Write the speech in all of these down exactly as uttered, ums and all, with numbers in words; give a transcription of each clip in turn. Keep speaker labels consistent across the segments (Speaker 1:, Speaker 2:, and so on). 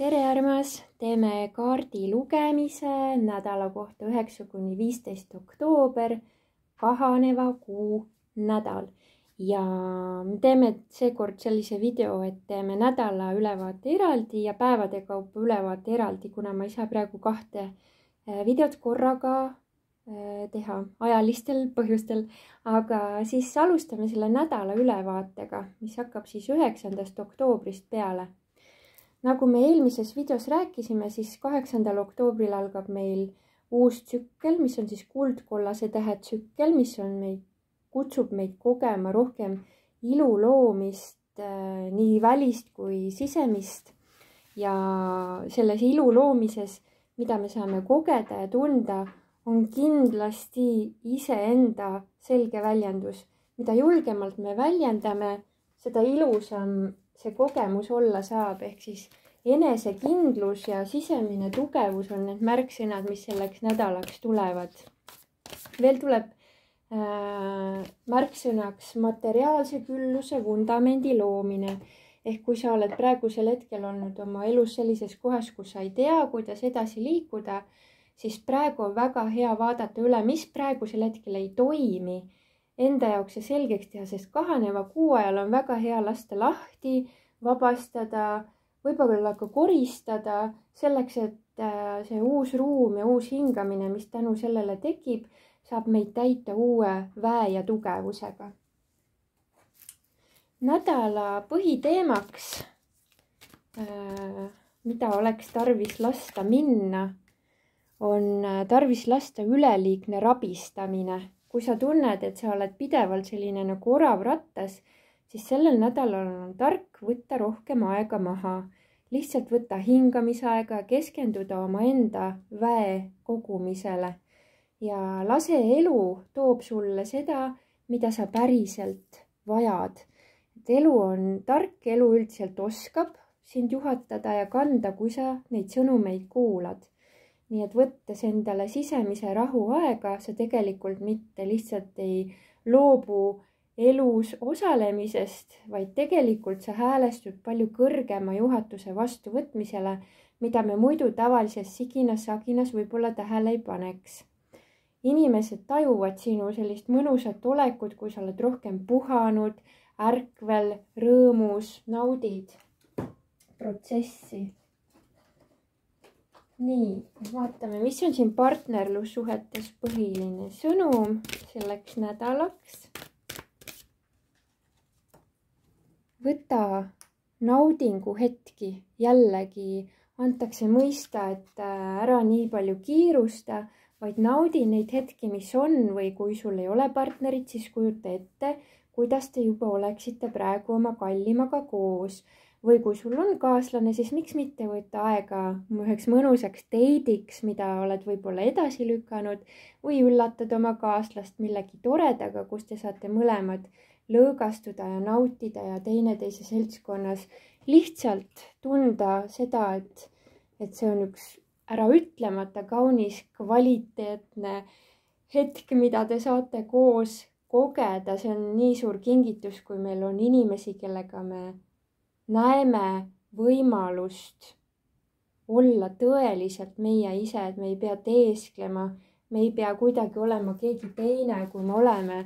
Speaker 1: tere armas, teeme kaardi lugemise nädala kohta üheksa kuni viisteist oktoober, kahaneva kuu nädal. Ja me teeme seekord sellise video, et teeme nädala ülevaate eraldi ja päevade kaupa ülevaate eraldi, kuna ma ei saa praegu kahte videot korraga teha ajalistel põhjustel. Aga siis alustame selle nädala ülevaatega, mis hakkab siis üheksandast oktoobrist peale. Nagu me eelmises videos rääkisime, siis kaheksandal oktoobril algab meil uus tsükkel, mis on siis kuldkollase tähe tsükkel, mis on meid, kutsub meid kogema rohkem ilu loomist, äh, nii välist kui sisemist. Ja selles ilu loomises, mida me saame kogeda ja tunda, on kindlasti iseenda selge väljendus. Mida julgemalt me väljendame, seda ilusam see kogemus olla saab, ehk siis enesekindlus ja sisemine tugevus on need märksõnad, mis selleks nädalaks tulevad. Veel tuleb äh, märksõnaks materiaalse külluse vundamendi loomine. Ehk kui sa oled praegusel hetkel olnud oma elus sellises kohas, kus sa ei tea, kuidas edasi liikuda, siis praegu on väga hea vaadata üle, mis praegusel hetkel ei toimi, enda jaoks ja selgeks teha, sest kahaneva kuu ajal on väga hea lasta lahti, vabastada, võib-olla ka koristada, selleks, et see uus ruum ja uus hingamine, mis tänu sellele tekib, saab meid täita uue väe ja tugevusega. Nädala põhiteemaks, mida oleks tarvis lasta minna, on tarvis lasta üleliigne rabistamine. Kui sa tunned, et sa oled pidevalt selline nagu orav rattas, siis sellel nädalal on tark võtta rohkem aega maha. Lihtsalt võtta hingamisaega ja keskenduda oma enda väe kogumisele. Ja lase elu toob sulle seda, mida sa päriselt vajad. Et elu on tark, elu üldiselt oskab sind juhatada ja kanda, kui sa neid sõnumeid kuulad. Nii et võttes endale sisemise rahu aega, sa tegelikult mitte lihtsalt ei loobu elus osalemisest, vaid tegelikult sa häälestud palju kõrgema juhatuse vastuvõtmisele, mida me muidu tavalises siginas-saginas võib-olla tähele ei paneks. Inimesed tajuvad sinu sellist mõnusat olekut, kui sa oled rohkem puhanud, ärkvel, rõõmus, naudid protsessi. Nii, vaatame, mis on siin partnerlussuhetes põhiline sõnum selleks nädalaks. Võta naudingu hetki, jällegi antakse mõista, et ära nii palju kiirusta, vaid naudi neid hetki, mis on, või kui sul ei ole partnerit, siis kujuta ette, kuidas te juba oleksite praegu oma kallimaga koos. Või kui sul on kaaslane, siis miks mitte võtta aega üheks mõnusaks teidiks, mida oled võib-olla edasi lükanud, või üllatad oma kaaslast millegi toredaga, kus te saate mõlemad lõõgastuda ja nautida ja teineteise seltskonnas lihtsalt tunda seda, et, et see on üks ära ütlemata kaunis kvaliteetne hetk, mida te saate koos kogeda. See on nii suur kingitus, kui meil on inimesi, kellega me näeme võimalust olla tõeliselt meie ise, et me ei pea teesklema, me ei pea kuidagi olema keegi teine, kui me oleme.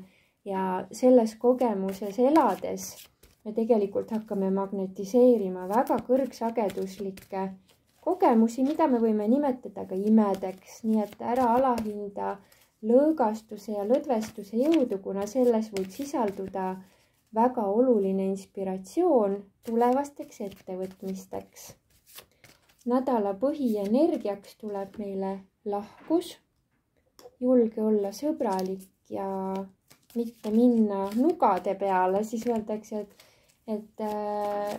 Speaker 1: Ja selles kogemuses elades me tegelikult hakkame magnetiseerima väga kõrgsageduslikke kogemusi, mida me võime nimetada ka imedeks. Nii et ära alahinda lõõgastuse ja lõdvestuse jõudu, kuna selles võib sisalduda väga oluline inspiratsioon tulevasteks ettevõtmisteks. Nädala põhienergiaks tuleb meile lahkus, julge olla sõbralik ja mitte minna nugade peale, siis öeldakse, et, et äh,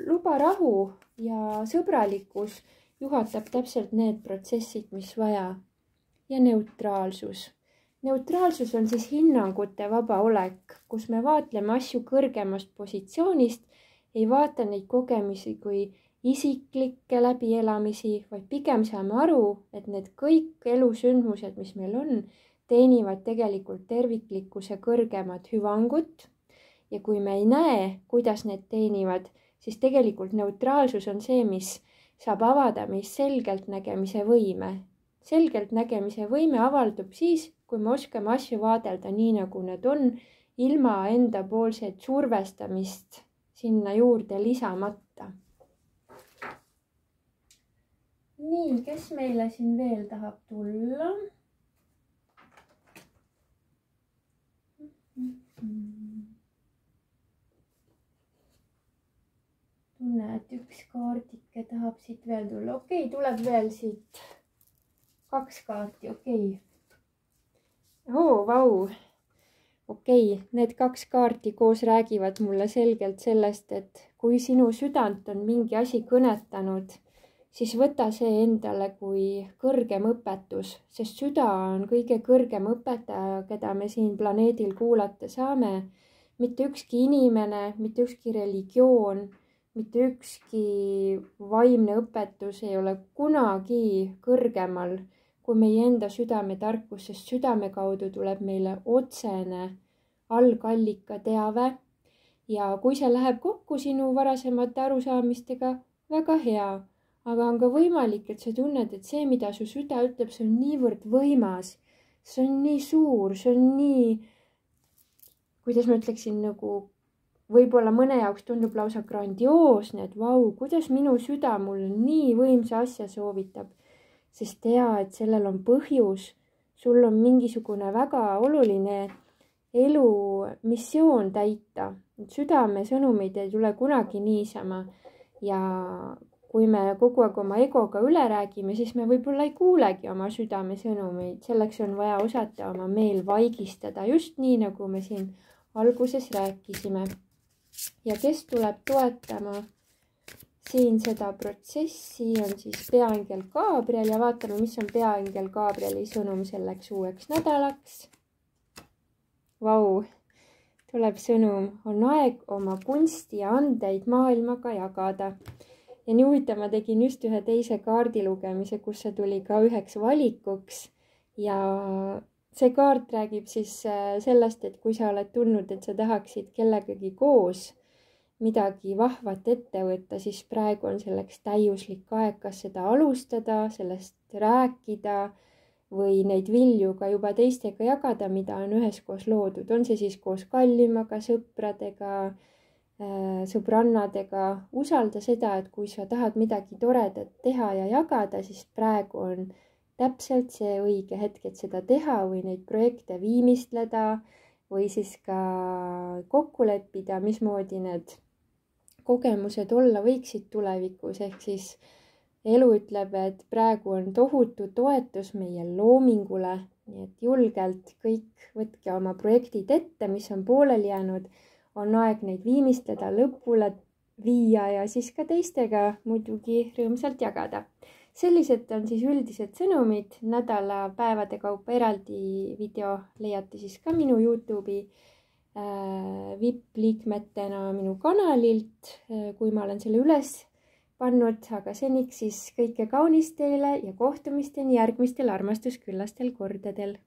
Speaker 1: luba rahu ja sõbralikkus juhatab täpselt need protsessid, mis vaja. Ja neutraalsus. Neutraalsus on siis hinnangute vaba olek, kus me vaatleme asju kõrgemast positsioonist, ei vaata neid kogemisi kui isiklikke läbielamisi, vaid pigem saame aru, et need kõik elusündmused, mis meil on, teenivad tegelikult terviklikkuse kõrgemat hüvangut. Ja kui me ei näe, kuidas need teenivad, siis tegelikult neutraalsus on see, mis saab avada meis selgeltnägemise võime. Selgeltnägemise võime avaldub siis, kui me oskame asju vaadelda nii, nagu need on, ilma enda poolset survestamist sinna juurde lisamata. Nii, kes meile siin veel tahab tulla? Tunne, et üks kaardike tahab siit veel tulla. Okei, tuleb veel siit kaks kaarti, okei. Oo, vau. Okei, need kaks kaarti koos räägivad mulle selgelt sellest, et kui sinu südant on mingi asi kõnetanud, siis võta see endale kui kõrgem õpetus, sest süda on kõige kõrgem õpetaja, keda me siin planeedil kuulata saame. Mitte ükski inimene, mitte ükski religioon, mitte ükski vaimne õpetus ei ole kunagi kõrgemal kui meie enda südametarkus, sest südame kaudu tuleb meile otsene algallika teave ja kui see läheb kokku sinu varasemate arusaamistega, väga hea. Aga on ka võimalik, et sa tunned, et see, mida su süda ütleb, see on niivõrd võimas. See on nii suur, see on nii, kuidas ma ütleksin, nagu võib-olla mõne jaoks tundub lausa grandioosne, et vau, kuidas minu süda mulle nii võimsa asja soovitab. Sest tea, et sellel on põhjus. Sul on mingisugune väga oluline elu missioon täita. Südame sõnumid ei tule kunagi niisama ja kui me kogu aeg oma egoga üle räägime, siis me võib-olla ei kuulegi oma südame sõnumeid. Selleks on vaja osata oma meel vaigistada, just nii, nagu me siin alguses rääkisime. Ja kes tuleb toetama siin seda protsessi, on siis peaangel Gabriel ja vaatame, mis on peaangel Gabrieli sõnum selleks uueks nädalaks. Vau, tuleb sõnum, on aeg oma kunsti ja andeid maailmaga jagada. Ja nii huvitav, ma tegin just ühe teise kaardi lugemise, kus see tuli ka üheks valikuks ja see kaart räägib siis sellest, et kui sa oled tundnud, et sa tahaksid kellegagi koos midagi vahvat ette võtta, siis praegu on selleks täiuslik aeg, kas seda alustada, sellest rääkida või neid vilju ka juba teistega jagada, mida on üheskoos loodud. On see siis koos kallimaga, sõpradega, sõbrannadega, usalda seda, et kui sa tahad midagi toredat teha ja jagada, siis praegu on täpselt see õige hetk, et seda teha või neid projekte viimistleda või siis ka kokku leppida, mismoodi need kogemused olla võiksid tulevikus, ehk siis elu ütleb, et praegu on tohutu toetus meie loomingule, nii et julgelt kõik võtke oma projektid ette, mis on pooleli jäänud, on aeg neid viimistleda, lõpule viia ja siis ka teistega muidugi rõõmsalt jagada. Sellised on siis üldised sõnumid, nädala päevade kaupa eraldi video leiate siis ka minu YouTube'i äh, V I P-liikmetena minu kanalilt, äh, kui ma olen selle üles pannud, aga seniks siis kõike kaunist teile ja kohtumisteni järgmistel armastusküllastel kordadel.